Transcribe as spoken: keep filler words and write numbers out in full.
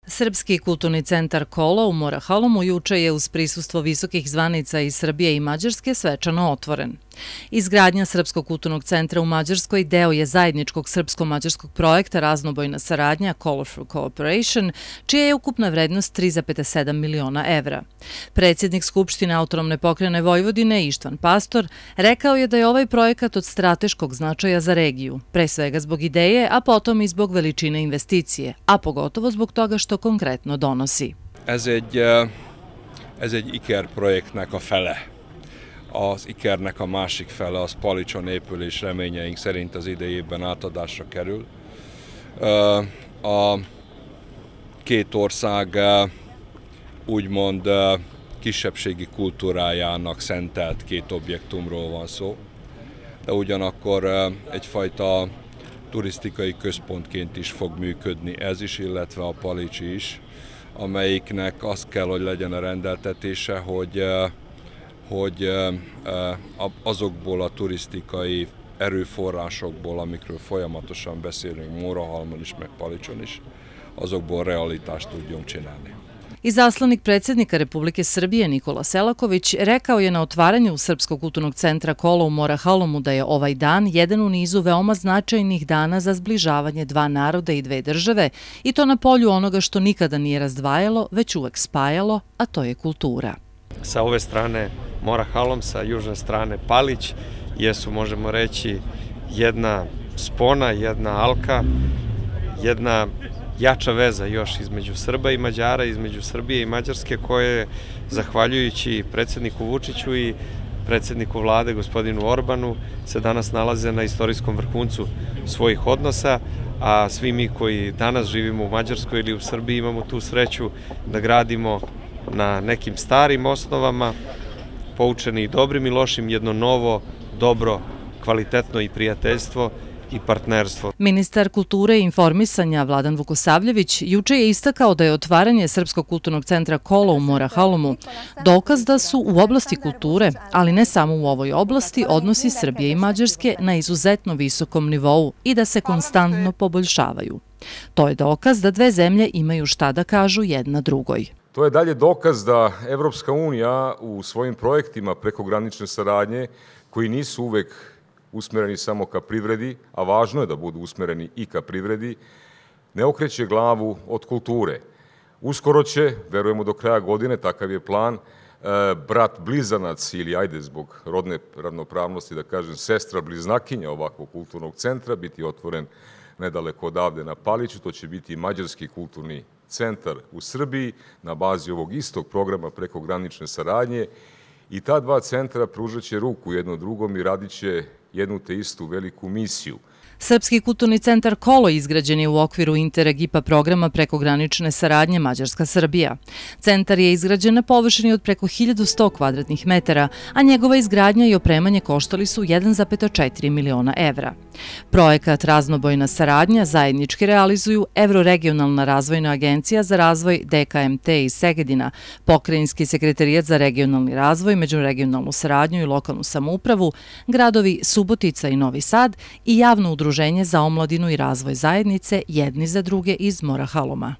Srpski kulturni centar Kolo u Morahalumu juče je uz prisustvo visokih zvanica iz Srbije i Mađarske svečano otvoren. Izgradnja Srpskog kulturnog centra u Mađarskoj deo je zajedničkog srpsko-mađarskog projekta Raznobojna saradnja Colorful Cooperation, čija je ukupna vrednost tri zarez sedam miliona evra. Predsjednik Skupštine Autonomne pokrajine Vojvodine Ištvan Pastor rekao je da je ovaj projekat od strateškog značaja za regiju, pre svega zbog ideje, a potom i zbog veličine investicije, a pogotovo zbog toga što konkrétno donosi. Ez egy, ez egy ikerprojektnek a fele. Az ikernek a másik fele az Palicson épül, és reményeink szerint az idei évben átadásra kerül. A két ország úgymond kisebbségi kultúrájának szentelt két objektumról van szó, de ugyanakkor egyfajta turisztikai központként is fog működni ez is, illetve a Palicsi is, amelyiknek az kell, hogy legyen a rendeltetése, hogy, hogy azokból a turisztikai erőforrásokból, amikről folyamatosan beszélünk Morahalmon is, meg Palicson is, azokból realitást tudjunk csinálni. Izaslanik predsjednika Republike Srbije Nikola Selaković rekao je na otvaranju Srpskog kulturnog centra Kolo u Morahalumu da je ovaj dan jedan u nizu veoma značajnih dana za zbližavanje dva naroda i dve države i to na polju onoga što nikada nije razdvajalo, već uvek spajalo, a to je kultura. Sa ove strane Morahalum, sa južne strane Palić, jesu, možemo reći, jedna spona, jedna alka, jedna jača veza još između Srba i Mađara, između Srbije i Mađarske, koje, zahvaljujući predsjedniku Vučiću i predsjedniku vlade, gospodinu Orbanu, se danas nalaze na istorijskom vrhuncu svojih odnosa, a svi mi koji danas živimo u Mađarskoj ili u Srbiji imamo tu sreću da gradimo na nekim starim osnovama, poučeni i dobrim i lošim, jedno novo, dobro, kvalitetno i prijateljstvo i partnerstvo. Ministar kulture i informisanja Vladan Vukosavljević juče je istakao da je otvaranje Srpskog kulturnog centra Kolo u Morahalumu dokaz da su u oblasti kulture, ali ne samo u ovoj oblasti, odnosi Srbije i Mađarske na izuzetno visokom nivou i da se konstantno poboljšavaju. To je dokaz da dve zemlje imaju šta da kažu jedna drugoj. To je dalje dokaz da Evropska unija u svojim projektima prekogranične saradnje, koji nisu uvek usmereni samo ka privredi, a važno je da budu usmereni i ka privredi, ne okreće glavu od kulture. Uskoro će, verujemo do kraja godine, takav je plan, brat blizanac ili, ajde zbog rodne ravnopravnosti da kažem, sestra bliznakinja ovakvog kulturnog centra biti otvoren nedaleko odavde na Paliću. To će biti Mađarski kulturni centar u Srbiji na bazi ovog istog programa prekogranične saradnje i ta dva centra pružat će ruku jedno drugom i radit će jednu te istu veliku misiju. Srpski kulturni centar Kolo izgrađen je u okviru Interreg I P A programa prekogranične saradnje Mađarska-Srbija. Centar je izgrađen na površini od preko hiljadu sto kvadratnih metara, a njegova izgradnja i opremanje koštali su jedan zarez četiri miliona evra. Projekat Raznobojna saradnja zajednički realizuju Evroregionalna razvojna agencija za razvoj D K M T iz Segedina, Pokrajinski sekretarijat za regionalni razvoj, međuregionalnu saradnju i lokalnu samoupravu, gradovi Subotica i Novi Sad i javno udruženje za omladinu i razvoj zajednice jedni za druge iz Morahaluma.